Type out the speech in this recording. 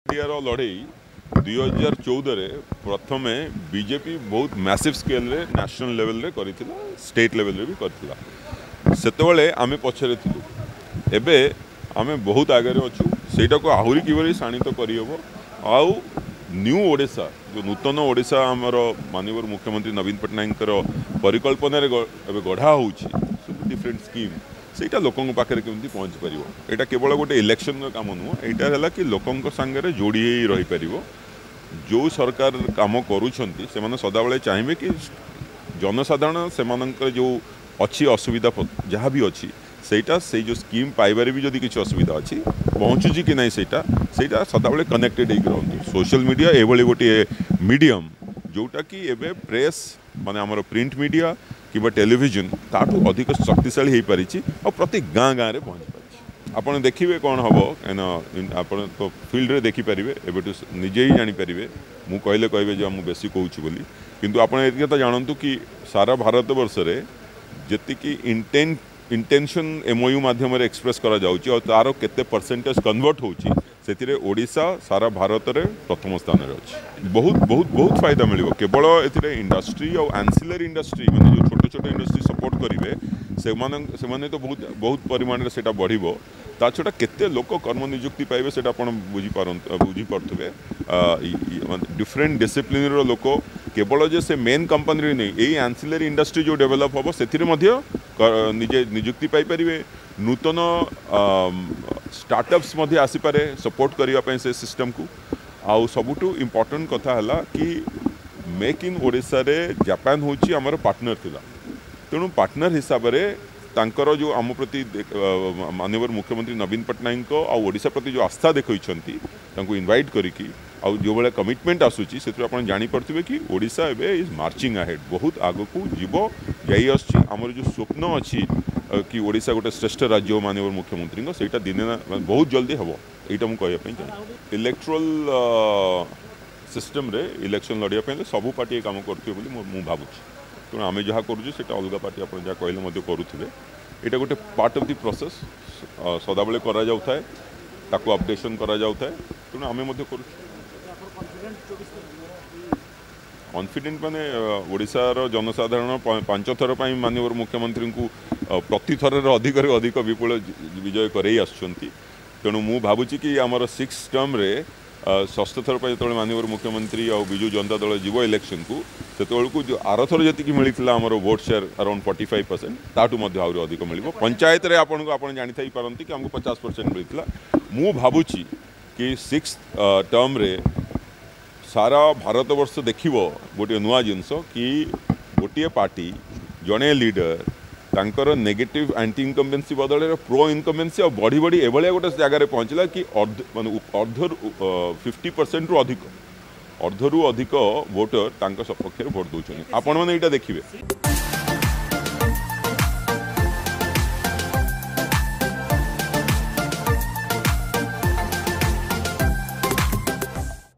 ମିଡ଼ିଆର ଲଢ଼େଇ 2014ରେ ପ୍ରଥମେ ବିଜେପି ବହୁତ ମ୍ୟାସିଭ୍ ସ୍କେଲ୍ରେ ନ୍ୟାସନାଲ୍ ଲେଭେଲରେ କରିଥିଲା, ଷ୍ଟେଟ୍ ଲେଭେଲରେ ବି କରିଥିଲା। ସେତେବେଳେ ଆମେ ପଛରେ ଥିଲୁ, ଏବେ ଆମେ ବହୁତ ଆଗରେ ଅଛୁ। ସେଇଟାକୁ ଆହୁରି କିଭଳି ଶାଣିତ କରିହେବ ଆଉ ନ୍ୟୁ ଓଡ଼ିଶା, ଯେଉଁ ନୂତନ ଓଡ଼ିଶା ଆମର ମାନ୍ୟବର ମୁଖ୍ୟମନ୍ତ୍ରୀ ନବୀନ ପଟ୍ଟନାୟକଙ୍କର ପରିକଳ୍ପନାରେ ଏବେ ଗଢ଼ା ହେଉଛି, ସବୁ ଡିଫରେଣ୍ଟ ସ୍କିମ୍, ସେଇଟା ଲୋକଙ୍କ ପାଖରେ କେମିତି ପହଞ୍ଚି ପାରିବ। ଏଇଟା କେବଳ ଗୋଟେ ଇଲେକ୍ସନର କାମ ନୁହଁ, ଏଇଟା ହେଲା କି ଲୋକଙ୍କ ସାଙ୍ଗରେ ଯୋଡ଼ି ହେଇ ରହିପାରିବ। ଯେଉଁ ସରକାର କାମ କରୁଛନ୍ତି ସେମାନେ ସଦାବେଳେ ଚାହିଁବେ କି ଜନସାଧାରଣ ସେମାନଙ୍କର ଯେଉଁ ଅଛି ଅସୁବିଧା ଯାହା ବି ଅଛି, ସେଇଟା ସେଇ ଯେଉଁ ସ୍କିମ୍ ପାଇବାରେ ବି ଯଦି କିଛି ଅସୁବିଧା ଅଛି, ପହଞ୍ଚୁଛି କି ନାହିଁ, ସେଇଟା ସଦାବେଳେ କନେକ୍ଟେଡ଼ ହେଇକି ରହନ୍ତି। ସୋସିଆଲ ମିଡ଼ିଆ ଏଭଳି ଗୋଟିଏ ମିଡ଼ିୟମ୍ ଯେଉଁଟାକି ଏବେ ପ୍ରେସ୍ ମାନେ ଆମର ପ୍ରିଣ୍ଟ ମିଡ଼ିଆ କିମ୍ବା ଟେଲିଭିଜନ ତାଠୁ ଅଧିକ ଶକ୍ତିଶାଳୀ ହେଇପାରିଛି ଆଉ ପ୍ରତି ଗାଁ ଗାଁରେ ପହଞ୍ଚି ପାରିଛି। ଆପଣ ଦେଖିବେ କ'ଣ ହେବ, କାହିଁକିନା ଆପଣ ତ ଫିଲ୍ଡରେ ଦେଖିପାରିବେ, ଏବେଠୁ ନିଜେ ହିଁ ଜାଣିପାରିବେ। ମୁଁ କହିଲେ କହିବେ ଯେ ମୁଁ ବେଶୀ କହୁଛି ବୋଲି, କିନ୍ତୁ ଆପଣ ଏତିକି କଥା ଜାଣନ୍ତୁ କି ସାରା ଭାରତବର୍ଷରେ ଯେତିକି ଇଣ୍ଟେନସନ୍ ଏମ୍ଓୟୁ ମାଧ୍ୟମରେ ଏକ୍ସପ୍ରେସ୍ କରାଯାଉଛି ଆଉ ତା'ର କେତେ ପରସେଣ୍ଟେଜ୍ କନଭର୍ଟ ହେଉଛି, ସେଥିରେ ଓଡ଼ିଶା ସାରା ଭାରତରେ ପ୍ରଥମ ସ୍ଥାନରେ ଅଛି। ବହୁତ ବହୁତ ବହୁତ ଫାଇଦା ମିଳିବ। କେବଳ ଏଥିରେ ଇଣ୍ଡଷ୍ଟ୍ରି ଆଉ ଆନ୍ସିଲାରୀ ଇଣ୍ଡଷ୍ଟ୍ରି ମାନେ ଯେଉଁ ଛୋଟ ଛୋଟ ଇଣ୍ଡଷ୍ଟ୍ରି ସପୋର୍ଟ କରିବେ, ସେମାନେ ତ ବହୁତ ବହୁତ ପରିମାଣରେ ସେଇଟା ବଢ଼ିବ। ତା ଛଡ଼ା କେତେ ଲୋକ କର୍ମ ନିଯୁକ୍ତି ପାଇବେ ସେଇଟା ଆପଣ ବୁଝିପାରୁଥିବେ। ଡିଫରେଣ୍ଟ ଡିସିପ୍ଲିନ୍ର ଲୋକ କେବଳ ଯେ ସେ ମେନ୍ କମ୍ପାନୀରେ ନେଇ ଏଇ ଆନ୍ସିଲାରୀ ଇଣ୍ଡଷ୍ଟ୍ରି ଯେଉଁ ଡେଭଲପ୍ ହେବ ସେଥିରେ ମଧ୍ୟ ନିଜେ ନିଯୁକ୍ତି ପାଇପାରିବେ। ନୂତନ ଷ୍ଟାର୍ଟଅପ୍ସ ମଧ୍ୟ ଆସିପାରେ ସପୋର୍ଟ କରିବା ପାଇଁ ସେ ସିଷ୍ଟମକୁ। ଆଉ ସବୁଠୁ ଇମ୍ପୋର୍ଟାଣ୍ଟ କଥା ହେଲା କି ମେକ୍ ଇନ୍ ଓଡ଼ିଶାରେ ଜାପାନ ହେଉଛି ଆମର ପାର୍ଟନର ଥିଲା, ତେଣୁ ପାର୍ଟନର ହିସାବରେ ତାଙ୍କର ଯେଉଁ ଆମ ପ୍ରତି ମାନ୍ୟବର ମୁଖ୍ୟମନ୍ତ୍ରୀ ନବୀନ ପଟ୍ଟନାୟକଙ୍କ ଆଉ ଓଡ଼ିଶା ପ୍ରତି ଯେଉଁ ଆସ୍ଥା ଦେଖାଇଛନ୍ତି, ତାଙ୍କୁ ଇନଭାଇଟ୍ କରିକି ଆଉ ଯେଉଁଭଳିଆ କମିଟମେଣ୍ଟ ଆସୁଛି, ସେଥିରୁ ଆପଣ ଜାଣିପାରୁଥିବେ କି ଓଡ଼ିଶା ଏବେ is marching ahead, ବହୁତ ଆଗକୁ ଯିବ, ଯାଇ ଆସୁଛି। ଆମର ଯେଉଁ ସ୍ୱପ୍ନ ଅଛି କି ଓଡ଼ିଶା ଗୋଟେ ଶ୍ରେଷ୍ଠ ରାଜ୍ୟ ମାନ୍ୟବର ମୁଖ୍ୟମନ୍ତ୍ରୀଙ୍କ, ସେଇଟା ଦିନେ ନା ବହୁତ ଜଲ୍ଦି ହେବ, ଏଇଟା ମୁଁ କହିବା ପାଇଁ ଚାହେଁ। ଇଲେକ୍ଟ୍ରାଲ୍ ସିଷ୍ଟମ୍ରେ ଇଲେକ୍ସନ୍ ଲଢ଼ିବା ପାଇଁ ହେଲେ ସବୁ ପାର୍ଟି ଏ କାମ କରୁଥିବେ ବୋଲି ମୁଁ ଭାବୁଛି। ତେଣୁ ଆମେ ଯାହା କରୁଛୁ ସେଇଟା ଅଲଗା ପାର୍ଟି ଆପଣ ଯାହା କହିଲେ ମଧ୍ୟ କରୁଥିବେ। ଏଇଟା ଗୋଟେ ପାର୍ଟ ଅଫ୍ the process, ସଦାବେଳେ କରାଯାଉଥାଏ, ତାକୁ ଅପଡେସନ୍ କରାଯାଉଥାଏ, ତେଣୁ ଆମେ ମଧ୍ୟ କରୁଛୁ। କନଫିଡେଣ୍ଟ ମାନେ ଓଡ଼ିଶାର ଜନସାଧାରଣ 5 ଥର ପାଇଁ ମାନ୍ୟବର ମୁଖ୍ୟମନ୍ତ୍ରୀଙ୍କୁ ପ୍ରତିଥରରେ ଅଧିକରୁ ଅଧିକ ବିପୁଳ ବିଜୟ କରେଇ ଆସୁଛନ୍ତି। ତେଣୁ ମୁଁ ଭାବୁଛି କି ଆମର 6 ଟର୍ମରେ ଷଷ୍ଠ ଥର ପାଇଁ ଯେତେବେଳେ ମାନ୍ୟବର ମୁଖ୍ୟମନ୍ତ୍ରୀ ଆଉ ବିଜୁ ଜନତା ଦଳ ଯିବ ଇଲେକ୍ସନକୁ, ସେତେବେଳକୁ ଯେଉଁ ଆରଥର ଯେତିକି ମିଳିଥିଲା ଆମର ଭୋଟ୍ ସେୟାର ଆରାଉଣ୍ଡ 45%, ତାଠୁ ମଧ୍ୟ ଆହୁରି ଅଧିକ ମିଳିବ। ପଞ୍ଚାୟତରେ ଆପଣ ଜାଣିଥାଇ ପାରନ୍ତି କି ଆମକୁ 50% ମିଳିଥିଲା। ମୁଁ ଭାବୁଛି କି 6 ଟର୍ମରେ ସାରା ଭାରତବର୍ଷ ଦେଖିବ ଗୋଟିଏ ନୂଆ ଜିନିଷ କି ଗୋଟିଏ ପାର୍ଟି, ଜଣେ ଲିଡର, ତାଙ୍କର ନେଗେଟିଭ୍ ଆଣ୍ଟି ଇନକମ୍ବେନ୍ସି ବଦଳରେ ପ୍ରୋ ଇନକମ୍ବେନ୍ସି ଆଉ ବଢ଼ି ବଢ଼ି ଏଭଳିଆ ଗୋଟେ ଜାଗାରେ ପହଞ୍ଚିଲା କି ମାନେ ଅର୍ଦ୍ଧରୁ 50%ରୁ ଅଧିକ, ଅର୍ଦ୍ଧରୁ ଅଧିକ ଭୋଟର ତାଙ୍କ ସପକ୍ଷରେ ଭୋଟ ଦେଉଛନ୍ତି। ଆପଣମାନେ ଏଇଟା ଦେଖିବେ।